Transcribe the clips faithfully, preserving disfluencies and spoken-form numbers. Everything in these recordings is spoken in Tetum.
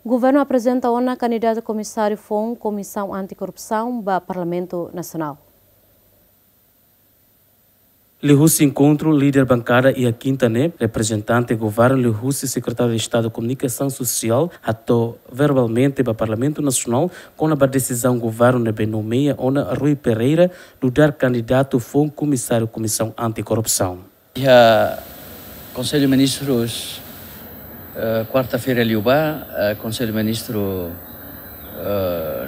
Governu aprezenta ona kandidatu komisáriu foun Komisaun Anti-Korrupsaun ba Parlamentu Nasionál. Liuhusi enkontru líder bankada iha kinta ne'e, reprezentante governu liuhusi Sekretáriu Estadu Komunikasaun Sosiál hato'o verbalmente ba Parlamentu Nasionál kona-ba desizaun governu ne'ebé nomeia ona Rui Pereira nu'udar kandidatu foun komisáriu Komisaun Anti-Korrupsaun. Iha Konsellu Ministrus, eh, kuarta-feira liubá, eh, Konsellu Ministru, eh,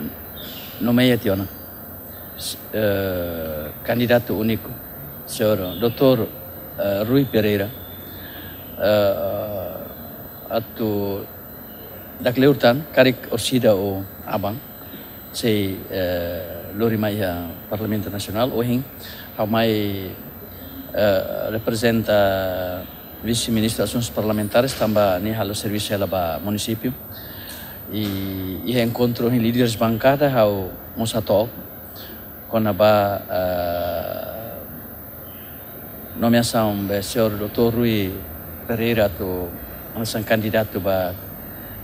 nomeia tiha ona, eh, kandidatu úniku, señór doutór, eh, Rui Pereira, eh, atu dakleur tan, karik orsida ou aban, sei, eh, lori mai iha Parlamentu Nasionál, ohin ha'u mai, eh, reprezenta Vise-Ministru Asuntus Parlamentares, tanba nia halo servisu hela ba munisípiu. I, iha enkontru ohin líderes bankada, ha'u mós hato'o kona-ba, eh, nomeasaun be señór doutór Rui Pereira atu hanesan kandidatu ba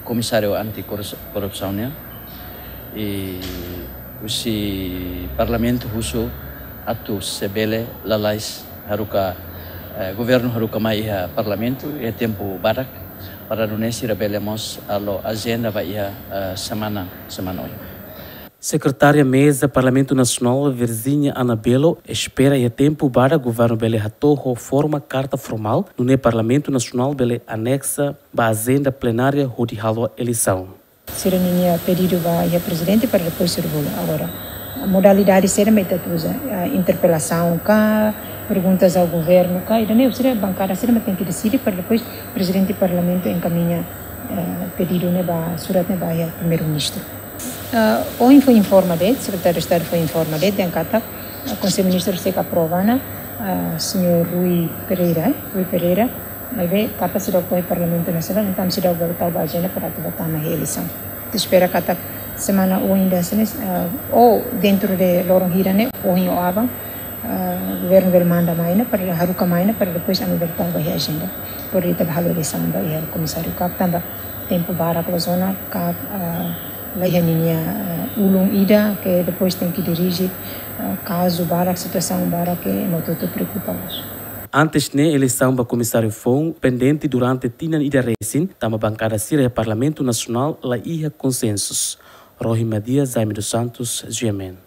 Komisáriu Anti-Korrupsaun nian. I husi Parlamentu husu atu se bele lalais haruka, eh, governu haruka mai iha Parlamentu iha tempu badak, para nune'e sira bele mós halo ajenda ba iha, eh, semana, semana oin. Sekretária Meza Parlamentu Nasionál, Virginia Anabelo, espera iha tempu badak governu bele hato'o ho forma karta formál, nune'e Parlamentu Nasionál bele aneksa ba ajenda plenária hodi halo eleisaun. Sira ninia pedidu ba iha Prezidente para depois sira bolu. Agora, modalidade sira mak ita uza, ah, interpelasaun ka, perguntas ao governo ka, ida-ne'e sira bankada sira mak tenke deside para depois Prezidente Parlamentu enkamiña, eh, pedidu ne'e ba, surat ne'e ba iha Primeiru-Ministru. Ah, ohin foin informa de'it, Sekretáriu Estadu foin informa de'it, dehan katak, ah, Konsellu Ministru sei aprova ona, ah, señór Rui Pereira, eh, Rui Pereira, maibé karta seidauk to'o iha Parlamentu Nasionál, entaun seidauk bele tau ba ajenda para atu bá tama iha eleisaun. Ita espera katak semana oin dehan hanesan ne'e, ah, ou dentro de loron hira ne'e, ohin ou aban, ah, governu bele manda mai ona, para haruka mai ona, para depois ami bele tau ba iha ajenda. Para ita bá halo eleisaun ba iha komisáriu ka, tanba tempu barak loos ona ka, ah, la iha ninia, ah, ulun ida ke depois tenke dirije, ah, kazu barak, situasaun barak ke ema hotu-hotu preokupa loos. Antes ne'e, eleisaun ba komisáriu foun pendente durante tinan ida resin, tanba bankada sira iha Parlamentu Nasionál la iha konsensus. Rohi Madia, Jaime dos Santos, G M N.